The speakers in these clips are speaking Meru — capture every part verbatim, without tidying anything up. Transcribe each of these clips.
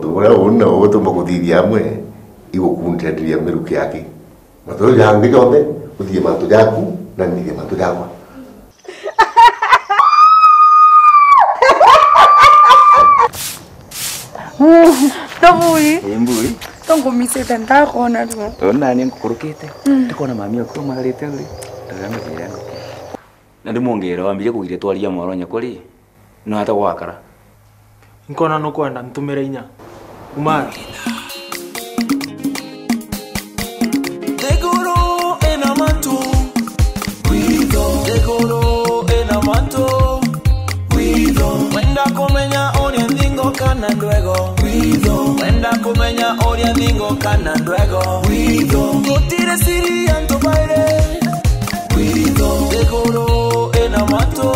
Uria uni na ugutuma kuthithia amwe, igukundaniria miruki yake. Matu jau jangi jonthe, uthithie mantu jaku, na nthithie mantu jakwa. Tobui. Ii, mbui. Tongumisite ndakwona riu. Ona ni ngukurukite. Mm. Ndikona mami aku amarite uri. Ndagamba njira nguku. Na ndi mwongere wambire kugiria twaria mwaro nyakuri. No ata gwakara. Nkona nukwenda ntumire inya. Umara. Nthiguru ina mantu. Witho. Nthiguru ina mantu. Witho. Wenda kumenya uria nthingo kana ndwego. Witho. Wenda kumenya uria nthingo kana ndwego. Witho. Gutiri siri ya antu bairi. Witho. Nthiguru ina mantu.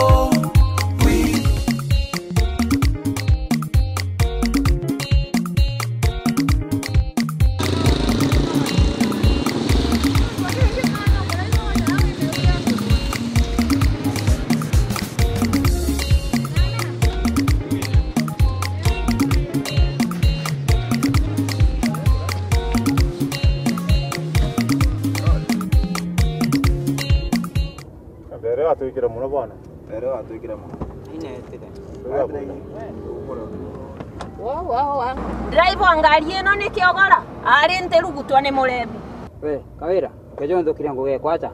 Witho. Mbere watwikire mono bwana. Mbere watwikire mono. Inetire. Wa, wa, wa. Driver wa ngari ino ni kiogora. Ari ntirugutwa ni murebi. We, Kawira, kejo nthukire ngugi ekwacha.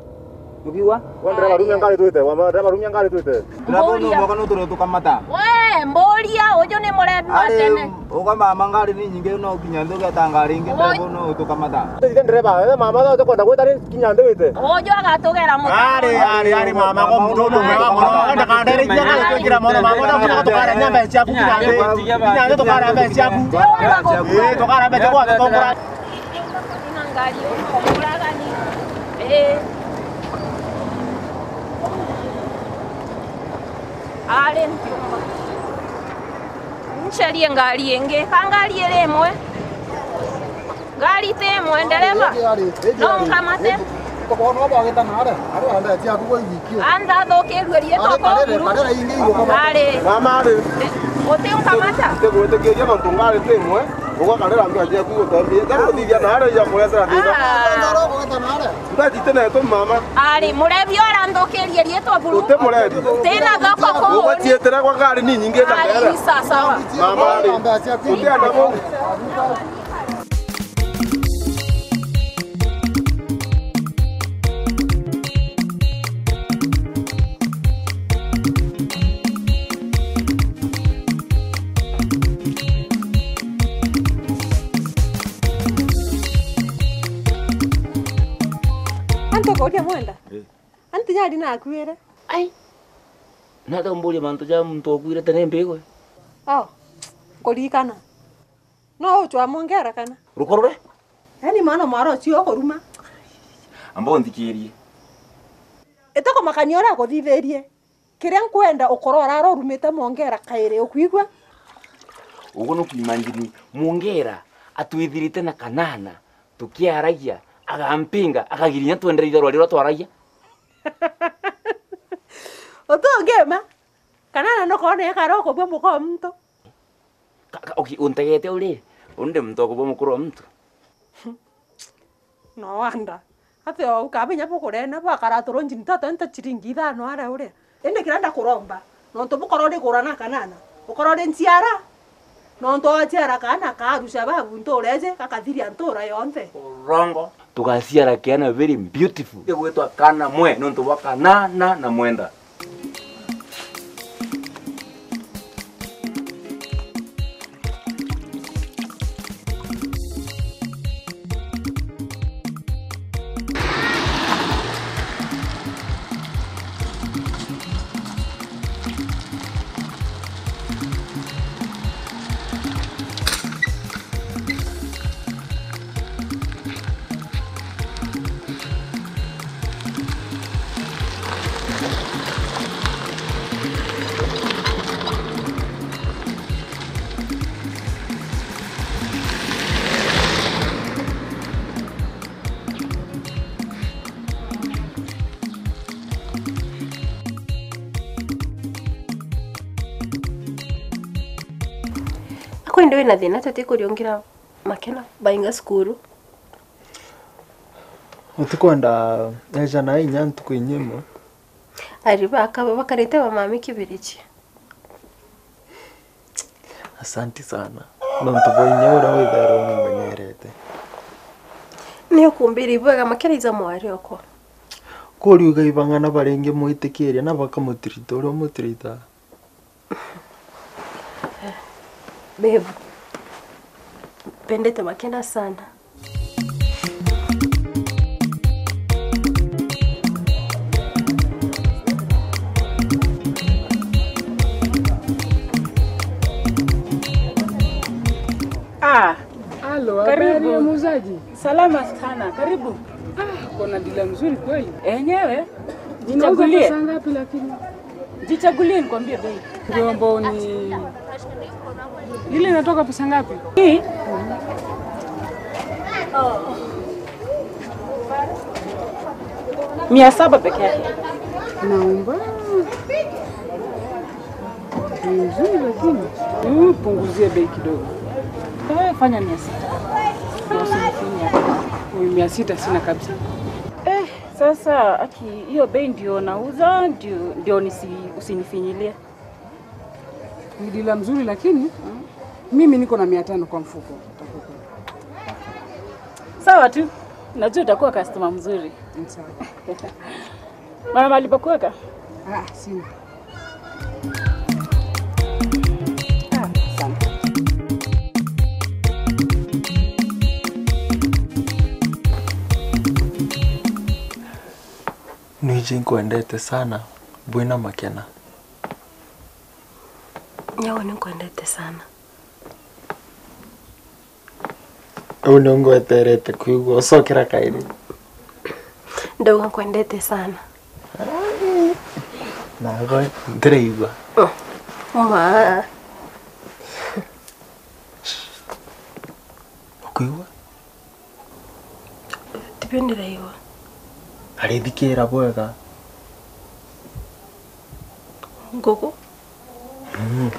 Nukiwa? Wa ndereba rumia ngari twite, wa ma-, ndereba rumia ngari twite. Ndereba unu Mburia. Mwaka nuture tukamata. We, mburia, uju ni murebi wa tene. Uga mama ngari ni nyingi no kinya nthi ugeta ngari ingi, ndereba unu utukamata. Ithe ndereba, ithe mama tho tukwenda gwita ri kinya nthi wite. Uju agatugera mutu. Ari, ari, ari mama, ko muntu uyu mwega mono. Ndakandere inya ngari twikira mono mama, no kinya tukare nya mbeca ciaku kinya nthi. Kinya nthi tukare mbeca ciaku. Ii, tukare mbeca ciaku, tukare. Ina ngari uyu muragani. Ii. Ari ntiumba. Ncarie ngari ingi. Ka ngari iri imwe? Ngari ti imwe, ndereba. No nkamate? Anthathukirue riitwa kwa buru. Ari. Mama ari. Uti unkamata? Ntigwitikiria nontu ngari ti imwe. Ugakarira mbeca ciaku igutambia. Ndakuthithia na aria ijakuretera thina. Ah. Mbeca itineetwe mama. Ari, murebi uranthukirie riitwa buru. Uti murebi. Tina thoko kuu. Ugacietera gwa ngari ni nyingi ta mbere. Ari, sawa sawa. Mama ari. Uti adabu. Antu kuria mwenda? Eh. Anti nyari nakuire. Ai. Nata umburia mantu ja muntu okuire tene mbigwe? Oh, nkuririkana. No uchwa mongera kana? Rukoro rwe? Yaani mwana mwara ucio ukuruma. Amba unthikirie. Itukumakania uria akuthithirie. Kiria nkwenda ukorwa urara urumite mongera kairi, ukwigua? Uguo nukwimagine mongera atwithirite na kanana tukiaragia, agampinga, akagiria inya twendere itharwa riria twaragia. Utungima, kanana nukoona ekara ukubua muka wa muntu. Ka-, ka-, uki-, untegete uri, undi muntu wa kubua mukuru wa muntu. No wonder. Ati o ukaba inya bukurena, bwakara turunji ntoto nta chiringi ithano aria uria. Indi kiria ndakuromba, nontu bukorwo urigura na kanana, ukorwo uri nchiara, nontu wachiara kaana ka Al-Shabaab ntuura iji, gakathiria ntuura yonthe. Urongo. Tugaciara kiana very beautiful. Gigwitwa Kana Mwe, nontu bwa kanana na mwenda. Ndi wina thina tutikuriungira Makena bainga cukuru? Utikwenda eja na inya ntuku inya imwe? Ari baka bakarite ba mami kibiriji. Asanti sana. Nontu bwa inya uria withairwo umumenyerete. Ni ukumbiri bwega Makena iza mwari okwa. Kuriuga ibang'ana baringi mwitikiria na bakamutirita uria umutirita. Babe, pendete Makena sana. Ah, Halo, karibu. Habari ya muuzaji? Salama sana, karibu. Ah, kuna dila mzuri kweli. Enyewe, ninauza jichagulie. Pesa ngapi lakini? Jichagulie nikwambie bei. Ndio ambao ni lile inatoka pesa ngapi? Hii? Mia saba peke yake. Naomba. Ni nzuri lakini. Mm, punguzie bei kidogo. Eh, fanya mia sita. Ndio usinifinye hapa. Huyu mia sita sina kabisa. Eh, sasa aki hiyo bei ndio nauza, ndio, ndio nisi-, usinifinyilie. Ni dila mzuri lakini mimi niko na mia tano kwa mfuko. Sawa tu. Najua utakuwa customer mzuri. Ni sawa. Mara mahali pa kuweka? Ah, sina. Ah, asante. Nwiji nkwendete sana, bwina Makena. Nyau ni nkwendete sana. Riu ni ngweterete kwigua ucokera kairi. Ndauga nkwendete sana. Nago ndiraigua. Ma. Ukwigua? Tibio ndiraigua. Ari thikira bwega. Nguku? Mm.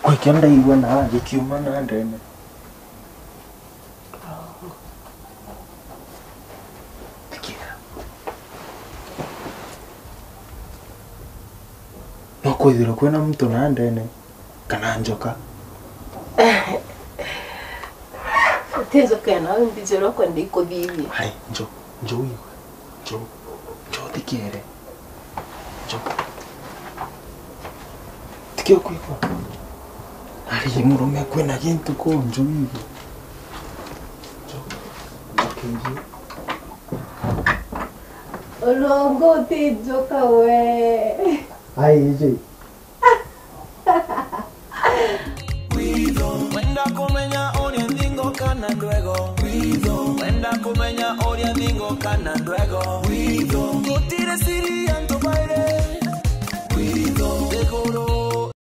Kwi kio ndaigua na gikiuma na ndene. Thikira. No kwithirwa kwina muntu na ndene. Kana njoka? Ti njoka ino, mbijire ukwenda ikuthithia. Hai, njo, njo wigue. Njo, njo thikire. Njo. Tikio kwigua. Ari murume kwina gintu ku, njo wigue. Njo. Njo kingi. Ulongo ti njoka we. Ai, iji. Wenda kumenya uria nthingo kana ndwego. Wenda kumenya uria nthingo kana ndwego.